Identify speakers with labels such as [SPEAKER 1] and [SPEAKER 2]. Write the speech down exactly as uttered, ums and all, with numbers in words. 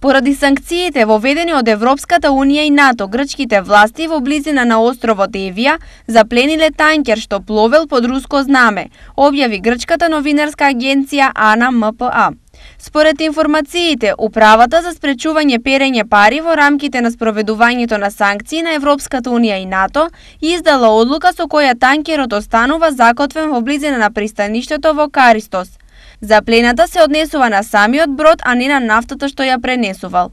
[SPEAKER 1] Поради санкциите воведени од Европската унија и НАТО, грчките власти во близина на островот Евија заплениле танкер што пловел под руско знаме, објави грчката новинарска агенција АНА М П А. Според информациите, Управата за спречување перење пари во рамките на спроведувањето на санкции на Европската унија и НАТО издала одлука со која танкерот останува закотвен во близина на пристаништето во Каристос. Заплената се однесува на самиот брод, а не на нафтата што ја пренесувал.